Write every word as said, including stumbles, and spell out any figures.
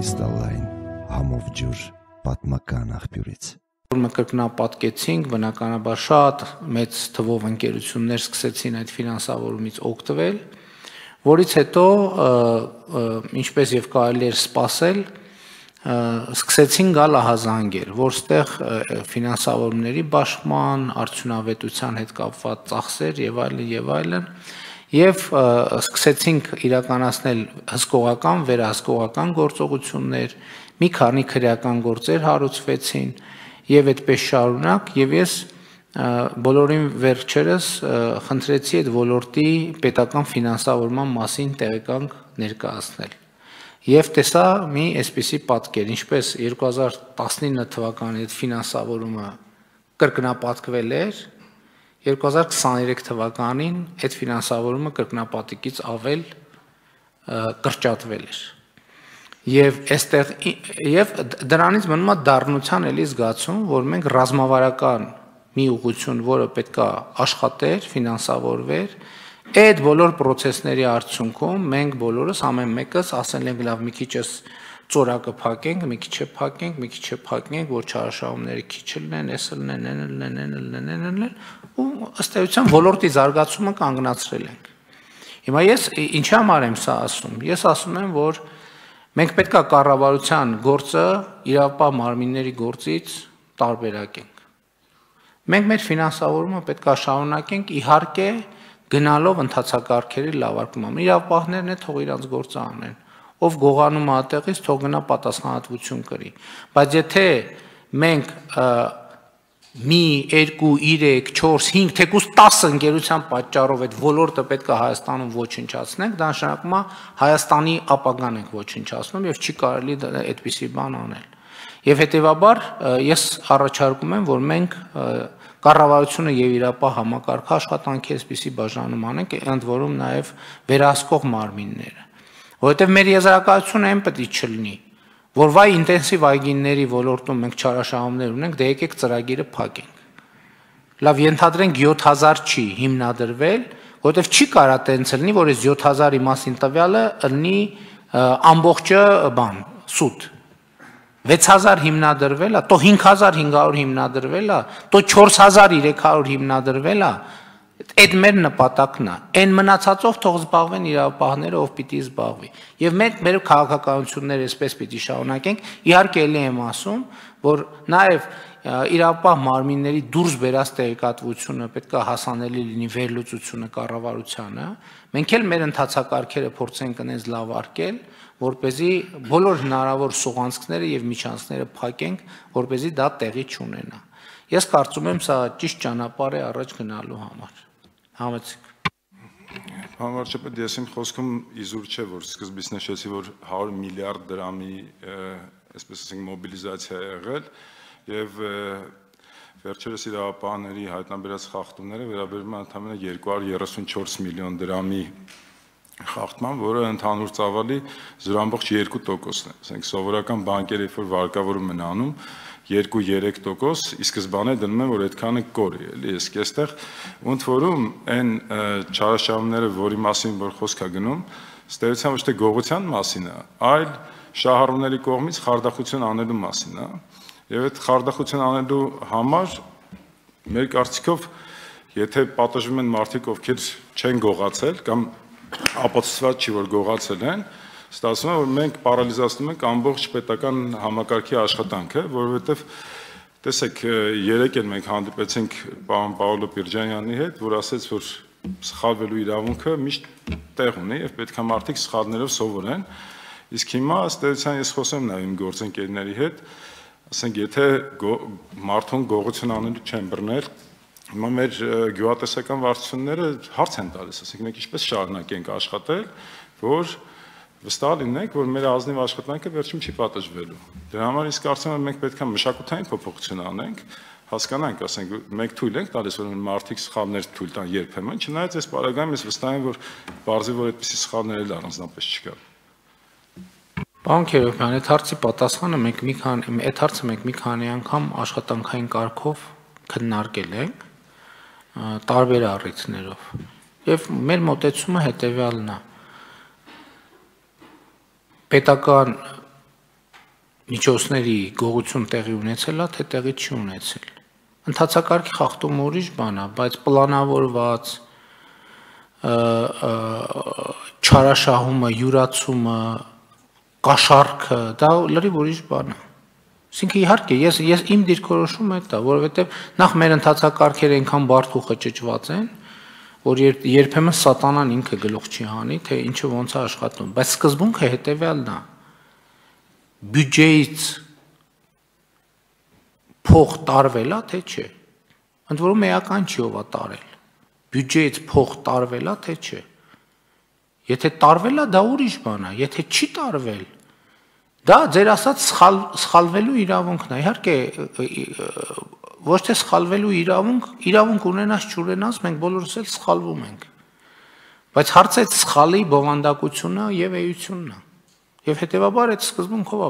Կրիստալային համով ջուր պատմական աղբյուրից։ Կրկնապատկեցինք, բնականաբար շատ մեծ թվով ընկերություններ սկսեցին այդ ֆինանսավորումից օգտվել, որից հետո, ինչպես եւ կարելի էր սպասել, սկսեցին գալ ահազանգեր, որտեղ ֆինանսավորումների բաշխման, արդյունավետության հետ կապված ծախսեր եւ այլն եւ այլն, եւ սկսեցինք իրականացնել հսկողական, վերահսկողական գործողություններ, մի քանի քրեական գործեր հարուցվեցին եւ այդպես շարունակ, եւ ես բոլորին վերջերս խնդրեցի այդ ոլորտի պետական ֆինանսավորման մասին տեղեկանք ներկայացնել։ Եվ տեսա մի այսպիսի պատկեր, ինչպես երկու հազար տասնինը թվականի այդ ֆինանսավորումը կրկնապատկվել էր, երկու հազար քսաներեք թվականին այդ ֆինանսավորումը կրկնապատկից ավել կրճատվել էր։ Եվ այստեղ եւ դրանից մնում է դառնության էլի զգացում, որ մենք ռազմավարական մի ուղղություն, որը պետքա աշխատեր, ֆինանսավորվեր, այդ բոլոր process-ների արդյունքում մենք բոլորս ամեն մեկս ասել ենք լավ մի քիչս ծորակը փակենք, մի քիչ է փակենք, մի քիչ է փակենք, որ չարաշահումները քիչ լինեն, էս լինեն, են լինեն, են լինեն, ու ըստ էության ոլորտի զարգացումը կանգնացրել ենք։ Հիմա ես ինչի համար եմ սա ասում։ Ես ասում եմ, որ մենք պետք է կառավարության գործը իրավապահ մարմինների գործից տարբերակենք։ Մենք մեր ֆինանսավորումը պետք է շարունակենք, իհարկե, գնալով ընթացակարգերի լավարկման։ Իրավապահներն է թող իրանց գործը անեն։ Ով գողանում է այդտեղից, թող գնա պատասխանատվություն կրի։ Բայց եթե մենք մի, երկու, երեք, չորս, հինգ, թեկուզ տասը ընկերության պատճառով այդ ոլորտը պետք է Հայաստանում ոչնչացնենք, դա նշանակում է Հայաստանի ապագան ենք ոչնչացնում եւ չի կարելի այդպիսի բան անել։ Եվ հետեւաբար ես առաջարկում եմ, որ մենք կառավարությունը եւ իրապահ համակարգը աշխատանքի այսպիսի բաժանում անենք, ընդ որում նաեւ վերահսկող մարմինները, որովհետեւ մեր եզրակացությունը այն պետք է չլինի, որ վայ ինտենսիվ այգիների ոլորտում մենք չարաշահումներ ունենք, դե եկեք ծրագիրը փակենք։ Լավ, ենթադրենք յոթ հազար չի հիմնադրվել, որովհետեւ չի կարա տենց լինի, որ այս յոթ հազարի մասին տվյալը լինի ամբողջը բան, սուտ։ վեց հազար հիմնադրվել է, то հինգ հազար հինգ հարյուր հիմնադրվել է, то չորս հազար երեք հարյուր հիմնադրվել է, այդ մեր նպատակն է։ Այն մնացածով թող զբաղվեն իրավապահները, ով պիտի զբաղվի։ Եվ մենք մեր քաղաքականությունները այսպես պիտի շարունակենք, իհարկե էլի եմ ասում, որ նաև իրավապահ մարմինների դուրս բերած տեղեկատվությունը պետք է հասանելի լինի վերլուծությունը կառավարությանը, մենք էլ մեր ընթացակարգերը փորձենք այնպես լավարկել, որպեսզի բոլոր հնարավոր սուղանցքները եւ միջանցքները փակենք, որպեսզի դա տեղի չունենա։ Ես կարծում եմ սա ճիշտ ճանապարհ է առաջ գնալու համար։ Համեցեք։ Պարոն վարչապետ, ես իմ խոսքում իզուր չէ, որ սկզբից նշեցի, որ հարյուր միլիարդ դրամի, այսպես ասենք, մոբիլիզացիա է եղել եւ վերջերս իրավապահների հայտնաբերած խախտումները վերաբերում են ընդամենը երկու հարյուր երեսունչորս միլիոն դրամի խախտման, որը ընդհանուր ծավալի զրո ամբողջ երկու տոկոսն է։ Ասենք սովորական բանկերը, երբ որ վարկավորում են անում, երկու երեք տոկոս, ի սկզբանե դնում են, որ այդքանը կորի, էլի, իսկ այստեղ ոնց որում այն չարաշահումները, որի մասին որ խոսք է գնում, ըստ էության ոչ թե գողության մասին է, այլ շահառուների կողմից խարդախություն անելու մասին է։ Եվ այդ խարդախություն անելու համար մեր կարծիքով, եթե պատժվում են մարդիկ, ովքեր չեն գողացել կամ ապացուցված չի, որ գողացել են, ստացվում է, որ մենք պարալիզացնում ենք ամբողջ պետական համակարգի աշխատանքը, որովհետև տեսեք, երեկ էլ մենք հանդիպեցինք պարոն Պաուլո Պիրջանյանի հետ, որ ասեց, որ սխալվելու իրավունքը միշտ տեղ ունի եւ պետք է մարդիկ սխալներով սովորեն, իսկ հիմա ըստ էության ես խոսեմ նաեւ իմ գործընկերների հետ, ասենք, եթե մարդուն գողություն անելու չեն բռնել, հիմա մեր գյուղատնտեսական վարչությունները հարց են տալիս, ասենք, մենք ինչպես շարունակենք աշխատել, որ վստահ լինենք, որ մեր ազնիվ աշխատանքը վերջում չի պատժվելու։ Դրա համար իսկ կարծում եմ մենք պետք է մշակութային փոփոխություն անենք, հասկանանք, ասենք, մենք թույլ ենք տալիս, որ մարդիկ սխալներ թույլ տան երբեմն, չնայած այս պարագայում ես վստահ եմ, որ բարձի որ այդպիսի սխալներ էլ առանձնապես չկա։ Պարոն Քերոբյան, այդ հարցի պատասխանը մենք մի քանի այդ հարցը մենք մի քանի անգամ աշխատանքային կարգով քննարկել ենք տարբեր առիթներով։ Եվ մեր մոտեցումը հետևյալն է։ Պետական միջոցների գողություն տեղի ունեցել է, թե տեղի չի ունեցել։ Ընթացակարգի խախտումը ուրիշ բան է, բայց պլանավորված չարաշահումը, յուրացումը, կաշառքը, դա լրիվ ուրիշ բան է։ Այսինքն իհարկե ես ես իմ դիրքորոշումը է դա, որովհետև նախ մեր ընթացակարգերը այնքան բարդ ու խճճված են, որ երբեմն սատանան ինքը գլուխ չի հանի, թե ինչը ոնց է աշխատում, բայց սկզբունքը հետևյալն է։ Բյուջեից փող տարվել է, թե չէ։ Ընդ որում էական չի ով է տարել։ Բյուջեից փող տարվել է, թե չէ։ Եթե տարվել է, դա ուրիշ բան է, եթե չի տարվել, դա ձեր ասած սխալ սխալվելու իրավունքն է։ Իհարկե ոչ թե սխալվելու իրավունք, իրավունք ունենաս չունենաս, մենք բոլորս էլ սխալվում ենք։ Բայց հարցը այդ սխալի բովանդակությունը եւ էությունն է։ Եվ հետեւաբար այդ սկզբունքով